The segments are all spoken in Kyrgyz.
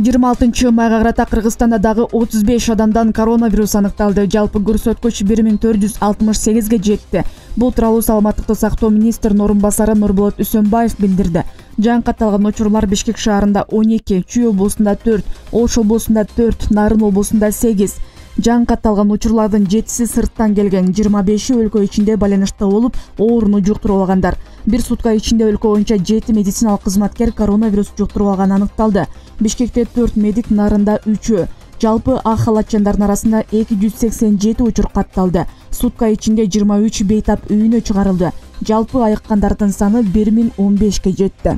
26 майга карата Кыргызстанда дагы 35 адамдан коронавирус аныкталды. Жалпы көрсөткүч 1468ге жетти. Бул тууралуу Саламаттыкты сактоо министринин орун басары Нурболот Үсөнбаев билдирди. Жаңы алган учурлар Бишкек шаарында 12, Чүй облусунда 4, Ош облусунда 4, Нарын облусунда 8. Жаңы алган учурлардын 7си сырттан келген, 25 өлкө ичинде байланышта болуп, ооруну жуктуруп алгандар. Бир сутка ичинде өлкө боюнча 7 медициналык кызматкер коронавирус жуктуруп алганы аныкталды. Бишкекте 4 медик, Нарында 3. Жалпы ак халатчандардын арасында 287 учур катталды. Сутка ичинде 23 бейтап үйүнө чыгарылды. Жалпы айыккандардын саны 1015ке жетти.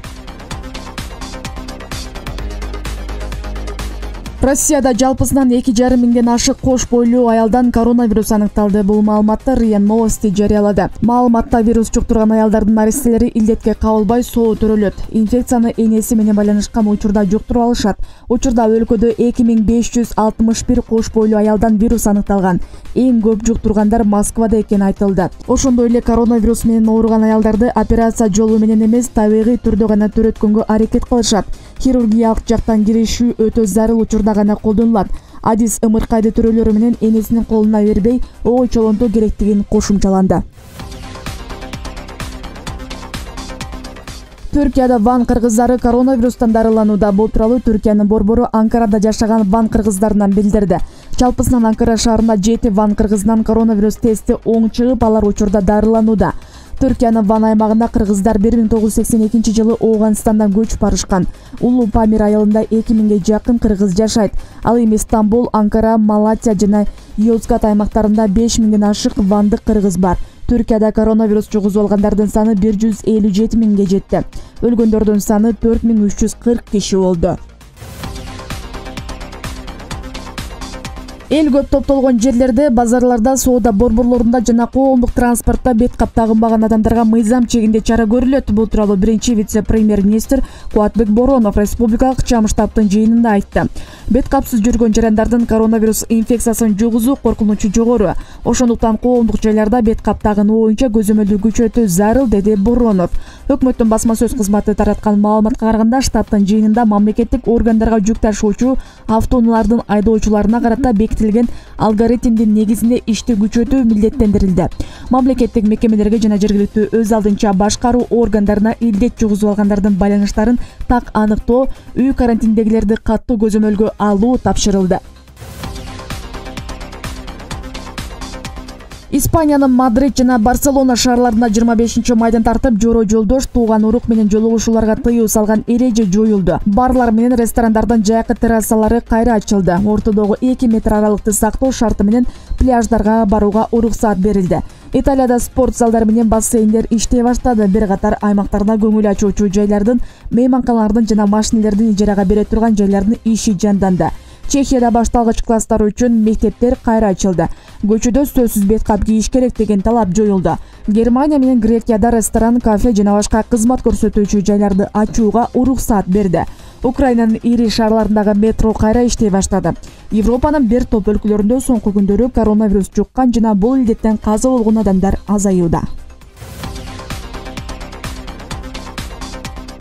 Россияда жалпысынан 2,5 миңден ашык кош бойлуу аялдан коронавирус аныкталды. Бул маалыматты РИА Новости жарыялады. Маалыматта вирус жуктурган аялдардын наристелери илдетке кабылбай соо төрөлөт. Инфекцияны энеси менен байланышкан учурда жуктуруп алышат. Учурда өлкөдө 2561 кош бойлуу аялдан вирус аныкталган. Эң көп жуктургандар Москвада экени айтылды. Ошондой эле коронавирус менен ооруган аялдарды операция жолу менен эмес, табигый түрдө гана төрөткөнгө аракет кылышат. Хирургиялык жактан киришүү өтө зарыл учурда гана колдонулат. Адис ымыркайды төрөлөрү менен энесинин колуна бербей, ойчолонтуу керектигин кошумчаланды. Түркияда ван кыргыздары коронавирустан дарыланууда. Бул тууралуу Түркиянын борбору Анкарада жашаган ван кыргыздарынан билдирди. Жалпысынан Анкара шаарында 7 ван кыргызынан коронавирус тести оң чыгып, алар учурда дарыланууда. Түркиянын Ван аймагында кыргыздар 1982 жылы Ооганстандан көчүп барышкан. Улуу Памир айылында 2000ге жакын кыргыз жашайт. Ал эми Стамбул, Анкара, Малатия жана Йозгат аймактарында 5000ден ашык вандык кыргыз бар. Түркияда коронавирус жугузуп алгандардын саны 157 миңге жетти. Өлгөндөрдүн саны 4340 киши болду. Эл көп топтолгон жерлерде, базарларда, соода борборлорунда жана коомдук транспортто бет кап тагынбаган адамдарга мыйзам чегинде чара көрүлөт. Бул тууралуу биринчи вице-премьер-министр Кубатбек Боронов республикалык чам штабтын жыйынында айтты. Бет капсыз жүргөн жарандардын коронавирус инфекциясын жугузуу коркунучу жогору. Ошондуктан коомдук жайларда бет кап тагынуу боюнча көзөмөлдү күчөтүү зарыл, деди Боронов. Өкмөттүн басма сөз кызматы тараткан маалыматка караганда, штабтын жыйынында мамлекеттик органдарга жүк ташуучу автоунаалардын айдоочуларына карата бекитилген алгоритмдин негизинде ишти күчөтүү милдеттендирилди. Мамлекеттик мекемелерге жана жергиликтүү өз алдынча башкаруу органдарына илдет жугузуп алгандардын байланыштарын так аныктоо, үй карантиндегилерди каттуу көзөмөлгө алуу тапшырылды. Испаниянын Мадрид жана Барселона шаарларында 25 майдан тартып жоро жолдош, тууган урук менен жолугушууларга тыюу салган эреже жоюлду. Барлар менен ресторандардын жайкы террасалары кайра ачылды. Ортодогу 2 метр аралыкты сактоо шарты менен пляждарга барууга уруксаат берилди. Италияда спорт залдары менен бассейндер иштей баштады. Бир катар аймактарда көңүл ачуучу жайлардын, мейманканалардын жана машинелердин ижарага бере турган жайлардын иши жанданды. Чехияда башталгыч класстар үчүн мектептер кайра ачылды. Көчөдө сөзсүз бет кап кийиш керек деген талап жоюлду. Германия менен Грекияда ресторан, кафе жана башка кызмат көрсөтүүчү жайларды ачууга уруксаат берди. Украинанын ири шаарларындагы метро кайра иштей баштады. Европанын бир топ өлкөлөрүндө соңку күндөрү коронавирус жуккан жана бул илдеттен каза болгон адамдар азаюуда.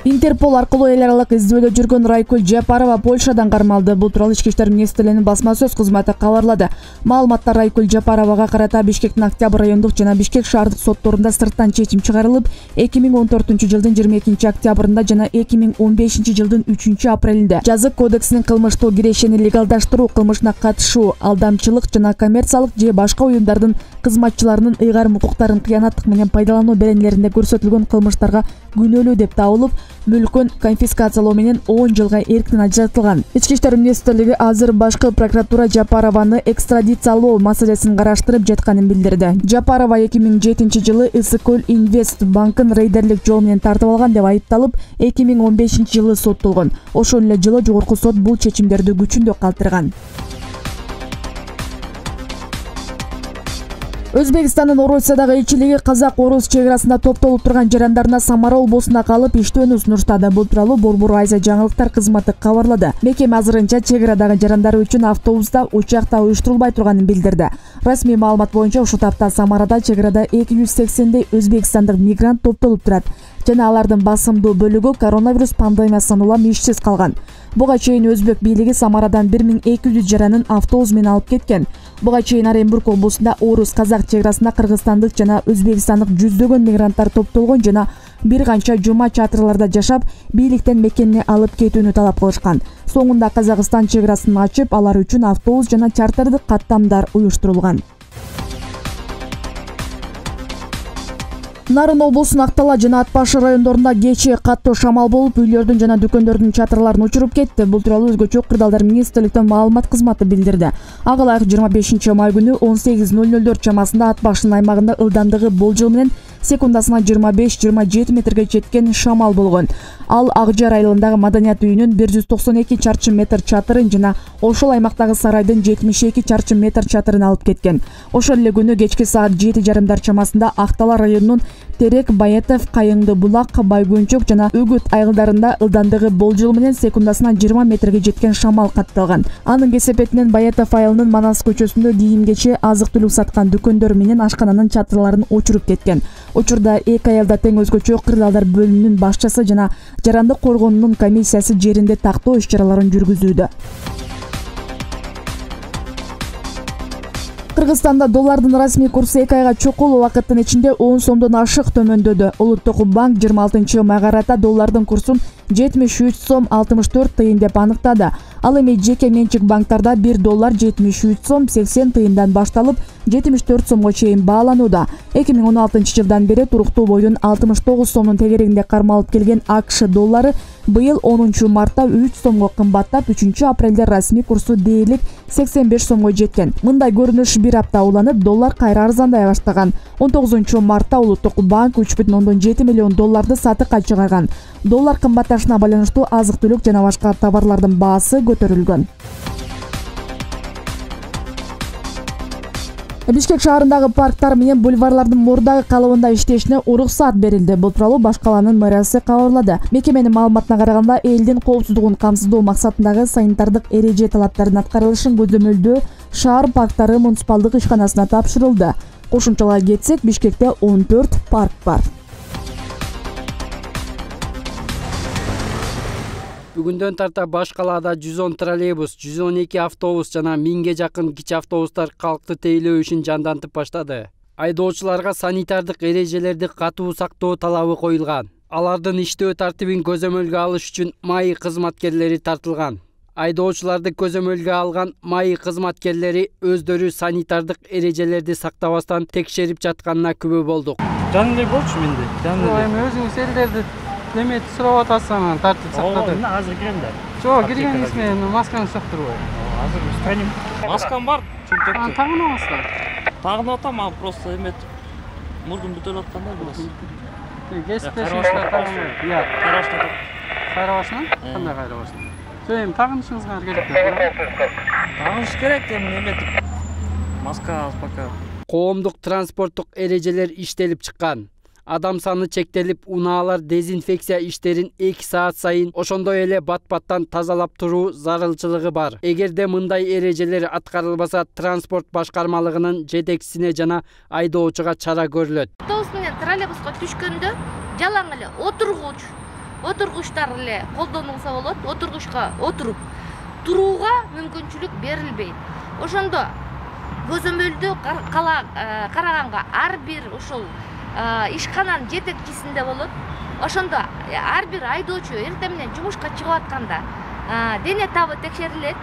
Интерпол аркылуу эл аралык издөөдө жүргөн Райкуль Жапарова Польшадан кармалды. Бул тууралуу Ички иштер министрлигинин басма сөз кызматы кабарлады. Маалыматта Райкуль Жапаровага карата Бишкектин Октябрь райондук жана Бишкек шаардык сотторунда сырттан чечим чыгарылып, 2014 жылдын 22 октябрында жана 2015 жылдын 3 апрелинде Жазык кодексинин кылмыштуу кирешени легалдаштыруу кылмышына катышуу, алдамчылык жана коммерциялык же башка уюмдардын кызматчыларынын ыйгарым укуктарын кыянаттык менен пайдалануу беренелеринде көрсөтүлгөн кылмыштарга күнөөлүү деп табылып, мүлкүн конфискациялоо менен 10 жылга эрктен ажыратылган. Ички иштер министрлиги азыр башкы прокуратура Жапарованы экстрадициялоо маселесин караштырып жатканын билдирди. Жапарова 2007 жылы Ысыкөл Инвест банкын рейдерлик жол менен тартып алган деп айыпталып, 2015 жылы соттолгон. Ошол эле жылы жогорку сот бул чечимдерди күчүндө калтырган. Өзбекстандын Орусиядагы элчилиги казак-орус чек арасында топтолуп турган жарандарына Самара облусуна калып иштөөнү сунуштады. Бул тууралуу Борбор Айза жаңылыктар кызматы кабарлады. Мекеме азырынча чек арадагы жарандар үчүн автобуста, учакта уюштурулбай турганын билдирди. Расмий маалымат боюнча ушул тапта Самарада чек арада 280дей өзбекстандык мигрант топтолуп турат. жана алардын басымдуу бөлүгү коронавирус пандемиясынан улам ишсиз калган. Буга чейин Өзбек бийлиги Самарадан 1200 жаранын автобус менен алып кеткен. Буга чейин Оренбург облусунда орус-казак чек арасында кыргызстандык жана өзбекстандык жүздөгөн мигранттар топтолгон жана бир канча жума чатырларда жашап, бийликтен мекенине алып кетүүнү талап кылышкан. Соңунда Казакстан чек арасын ачып, алар үчүн автобус жана чартардык каттамдар уюштурулган. Нарын облусунун Актала жана Ат Башы райондорунда кечээ каттуу шамал болуп, үйлөрдүн жана дүкөндөрдүн чатырларын учуруп кетти. Бул тууралуу Өзгөчө кырдаалдар министрликтин маалымат кызматы билдирди. Ага ылайык 25 май күнү 18:00 чамасында Ат Башынын аймагында ылдамдыгы болжол менен секундасына 25-27 метрге жеткен шамал болгон. Ал Ак Жар айылындагы Маданият үйүнүн 192 чарчы метр чатырын жана ошол аймактагы сарайдын 72 чарчы метр чатырын алып кеткен. Ошол эле күнү кечки саат 7:30 чамасында Актала районунун Терек, Баятов, Кайыңды булак, Байгөнчөк жана Үгүт айылдарында ылдамдыгы болжол менен секундасына 20 метрге жеткен шамал катталган. Анын кесепетинен Баятов айылынын Манас көчөсүндө кийим-кече, азык-түлүк саткан дүкөндөр менен ашкананын чатырларын учуруп кеткен. Учурда эки айылда тең Өзгөчө кырдаалдар бөлүмүнүн башчысы жана жарандык коргоонунун комиссиясы жеринде тактоо иш-чараларын жүргүзүүдө. Кыргызстанда доллардын расмий курсу 2 айга чокул убакыттын ичинде 10 сомдон ашык төмөндөдү. Улуттук банк 26 майга карата доллардын курсун 73 сом 64 тыйын деп аныктады. Ал эми жеке менчик банктарда 1 доллар 73 сом 80 тыйындан башталып 74 сомго чейин бааланууда. 2016 жылдан бери туруктуу бойдон 69 сомдун тегерегинде кармалып келген АКШ доллары быйыл 10 мартта 3 сомго кымбаттап, 3 апрелде расмий курсу дээрлик 85 сомго жеткен. Мындай көрүнүш бир апта уланып, доллар кайра арзандай баштаган. 19 мартта Улуттук банк 3,7 миллион долларды сатыкка чыгарган. Доллар кымбатташына байланыштуу азык-түлүк жана башка товарлардын баасы көтөрүлгөн. Бишкек шаарындагы парктар менен бульварлардын мурдагы калыбында иштешине уруксат берилди. Бул тууралуу баш каланын мэриясы кабарлады. Мекеменин маалыматына караганда, элдин коопсуздугун камсыздоо максатындагы санитардык эреже талаптарынын аткарылышын көзөмөлдөө шаар парктары муниципалдык ишканасына тапшырылды. Кошумчалай кетсек, Бишкекте 14 парк бар. Бүгүндөн тарта баш калаада 110 троллейбус, 112 автобус жана 1000ге жакын кичи автобустар калкты тейлөө ишин жандантып баштады. Айдоочуларга санитардык эрежелерди катуу сактоо талабы коюлган. Алардын иштөө тартибин көзөмөлгө алыш үчүн МАИ кызматкерлери тартылган. Айдоочуларды көзөмөлгө алган МАИ кызматкерлери өздөрү санитардык эрежелерди сактабастан текшерип жатканына күбө болдук. Жаным эле болчу менде. Эми өзүңүз элдерди неме сурап атасың, тартип сактады. Азыр кирем да. Жок, киргениңиз менен маскаңызды так турбайбы? Азыр станем. Маскам бар, чөнтөктө. Тагынабызбы? Тагынып атам, а просто эметип мурдум бүтөлүп аткандай болосу. Кесиптешиңизге тагынбайбы? Иә. Караштатат. Кайрабашына? Кандай кайрабашына? Сөйм, тагынышыңызга керек. Тагыныш керек, эми эметип. Маска аз пока. Коомдук транспорттук эрежелер иштелип чыккан. Адам саны чектелип, унаалар дезинфекция иштерин 2 саат сайын, ошондой эле бат-баттан тазалап туруу зарылчылыгы бар. Эгерде мындай эрежелер аткарылбаса, транспорт башкармалыгынын жетекчисине жана айдоочуга чара көрүлөт. Автобус менен троллейбуска түшкөндө жалаң эле отургучтар эле колдонулса болот. Отургучка отуруп турууга мүмкүнчүлүк берилбейт. Ошондо көзөмөлдү караганга ар бир ушул ишкананын жетекчисинде болот. Ошондо ар бир айдоочу эртең менен жумушка чыгып атканда дене табы текшерилет,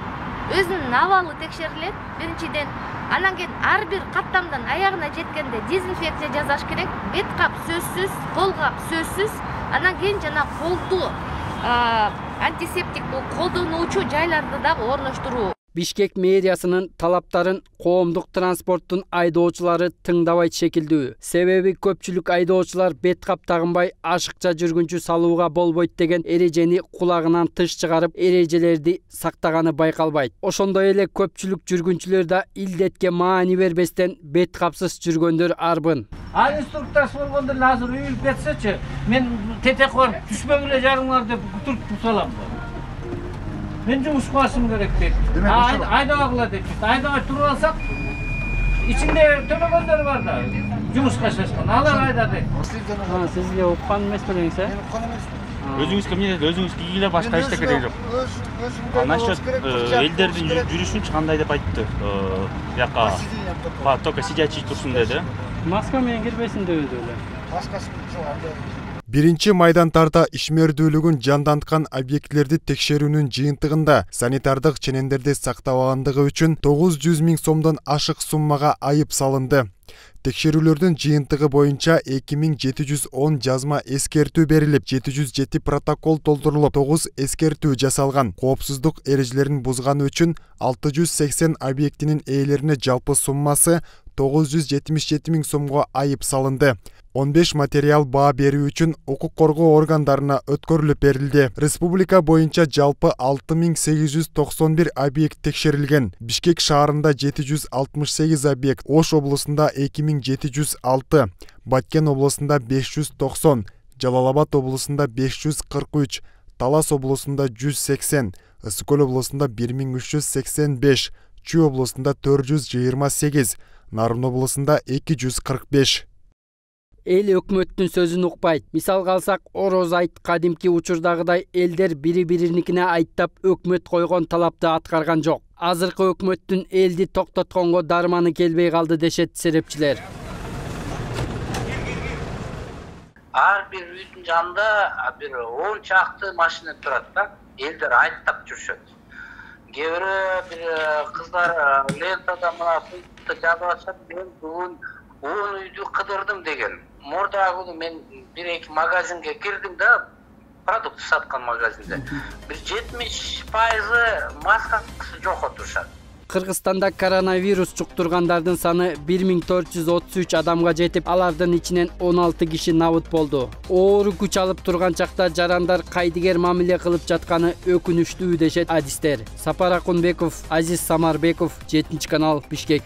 өзүнүн абалы текшерилет биринчиден. Анан кийин ар бир каттамдан аягына жеткенде дезинфекция жасаш керек. Бет кап сөзсүз, кол кап сөзсүз. Анан кийин жана колду антисептик колдонуучу жайларды да орноштуруу. Бишкек мэриясынын талаптарын коомдук транспорттун айдоочулары тыңдабайт шекилдүү. Себеби көпчүлүк айдоочулар бет кап тагынбай ашыкча жүргүнчү салууга болбойт деген эрежени кулагынан тыш чыгарып, эрежелерди сактаганы байкалбайт. Ошондой эле көпчүлүк жүргүнчүлөр да илдетке маани бербестен бет капсыз жүргөндөр арбын. Ал инструктаж болгондо азыр үйүлүп кетсечи, мен тетек барып түшпөгүлө жарыңар деп туртуп салам. Мен жумуш кылышым керек дейт. Айдабагыла дейт. Айдабай туруп алсак, ичинде төлөгөндөр бар да. Жумушка чачкан. Алар айдады. Сизге уккан эмес белеңиз, э? Өзүңүзгө эмне деди? Өзүңүз кийгиле башка эч керек жок. Насчет элдердин жүрүшүнчү кандай деп айтты? Бияка только сидячий турсун деди. Маска менен кирбесин дебеди эле. Маскасы жок анда. 1-майдантарда ишмердүүлүгүн жанданткан объектилерди текшерүүнүн жыйынтыгында санитардык ченемдерди сактабагандыгы үчүн 900 000 сомдон ашык суммага айып салынды. Текшерүүлөрдүн жыйынтыгы боюнча 2710 жазма эскертүү берилип, 707 протокол толтурулуп, 9 эскертүү жасалган. Коопсуздук эрежелерин бузганы үчүн 680 объектинин ээлерине жалпы суммасы 977 000 сомго айып салынды. 15 материал баа берүү үчүн укук коргоо органдарына өткөрүлүп берилди. Республика боюнча жалпы 6891 объект текшерилген. Бишкек шаарында 768 объект, Ош облусунда 2706, Баткен облусунда 590, Жалал-Абад облусунда 543, Талас облусунда 180, Ысык-Көл облусунда 1385, Чүй облусунда 428, Нарын облусунда 245. Эл өкмөттүн сөзүн укпайт. Мисалга алсак, Ороз айт кадимки учурдагыдай элдер бири-бириникине айттап өкмөт койгон талапты аткарган жок. Азыркы өкмөттүн элди токтотконго дарманы келбей калды дешет серепчилер. Ар бир үйдүн жанында бир 10 чакты машина турат да. Элдер айттап жүрүшөт. Кээ бир кыздар лентада мына фунтты жазып атышат, мен бүгүн 10 үйдү кыдырдым деген. Мурдагы күнү мен 1-2 магазинге кирдим да, продукт саткан магазинде. Бир 70% маскасы жок отурушат. Кыргызстанда коронавирус жуктургандардын саны 1433 адамга жетип, алардын ичинен 16 киши набыт болду. Оору күч алып турган чакта жарандар кайдыгер мамиле кылып жатканы өкүнүчтүү дешет адистер. Сапар Акунбеков, Азиз Самарбеков, 7 канал, Бишкек.